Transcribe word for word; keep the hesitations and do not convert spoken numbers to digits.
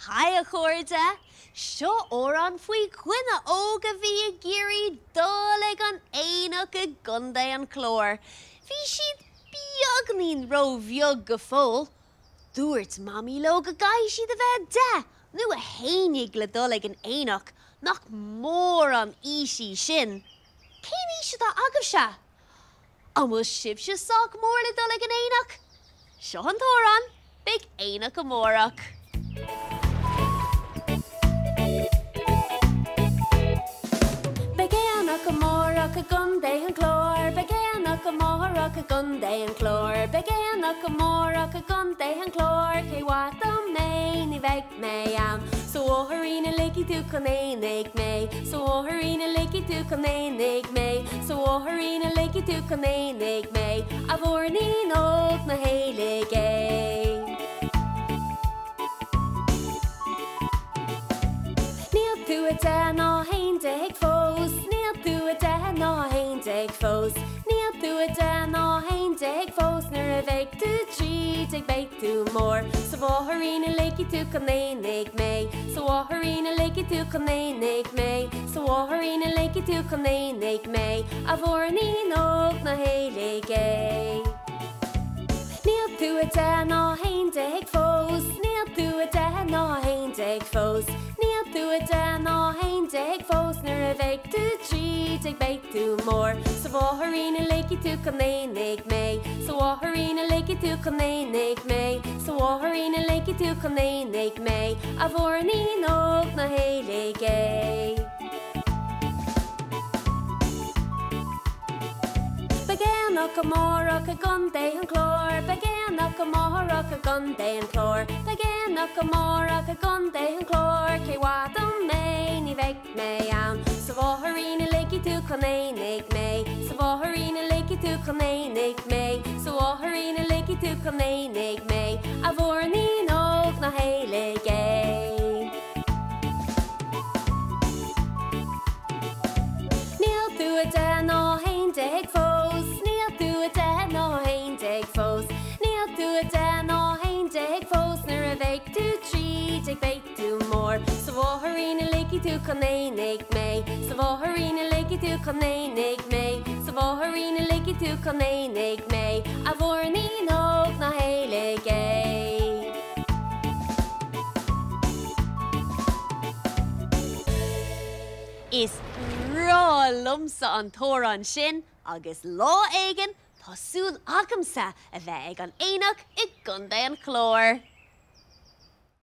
Haigh a chairde! Seo amhrán faoi dhuine óg a bhí ag iarraidh dul ag an aonach i gContae an Chláir. Bhí siad beagnín róbheag go fóill. Dúirt Mamaí leo go gcaithfidh siad a bheith deich nó a haon déag le dul ag an aonach, nach mór an aois í sin. Cén aois atá agaibhse? An bhfuil sibhse sách mór le dul ag an aonach? Seo an t-amhrán, beidh aonach amárach. Beidh aonach amárach i gContae an Chláir, Beidh aonach amárach i gContae an Chláir, Beidh aonach amárach i gContae an Chláir, Cé mhaith dom é, ní bheidh mé ann. Sa bhóithrín a ligfidh tú chun aonaigh mé, Sa bhóithrín a ligfidh tú chun aonaigh mé, Sa bhóithrín a ligfidh tú chun aonaigh mé, A mhúirnín óg ná héalaigh é. Níl tú a deich ná a haon déag fós, Níl tú a deich ná a haon déag fós, Níl tú a deich ná a haon déag fós, Nuair a bheidh tú trí déag beidh tú mór. Sa bhóithrín a ligfidh tú chun aonaigh mé, Sa bhóithrín a ligfidh tú chun aonaigh mé, Sa bhóithrín a ligfidh tú chun aonaigh mé, A mhúirnín óg ná héalaigh é. Níl tú a deich ná a haon déag fós, Níl tú a deich ná a haon déag fós, Níl tú a deich ná a haon déag fós, Nuair a bheidh tú trí déag beidh tú mór. Sa bhóithrín a ligfidh tú chun aonaigh mé, Sa bhóithrín a ligfidh tú chun aonaigh mé, Sa bhóithrín a ligfidh tú chun aonaigh mé, A mhúirnín óg ná héalaigh é. Beidh aonach amárach i gContae an Chláir, Beidh aonach amárach i gContae an Chláir, Beidh aonach amárach i gContae an Chláir, Cé mhaith dom é, ní bheidh mé ann. Sa bhóithrín a ligfidh tú chun aonaigh mé, Sa bhóithrín a ligfidh tú chun aonaigh mé, Sa bhóithrín a ligfidh tú chun aonaigh mé, A mhúirnín óg ná héalaigh é. Níl tú a deich ná a haon déag fós, Níl tú a deich ná a haon déag fós, Níl tú a deich ná a haon déag fós, Nuair a bheidh tú trí déag beidh tú mór. Sa bhóithrín a ligfidh tú chun aonaigh mé, Sa bhóithrín a ligfidh tú chun aonaigh mé, Sa bhóithrín a ligfidh tú chun aonaigh mé, A mhúirnín óg ná héalaigh é. Is breá liomsa an t-amhrán sin agus lá éigin tá súil agamsa a bheith ag an aonach i gContae an Chláir.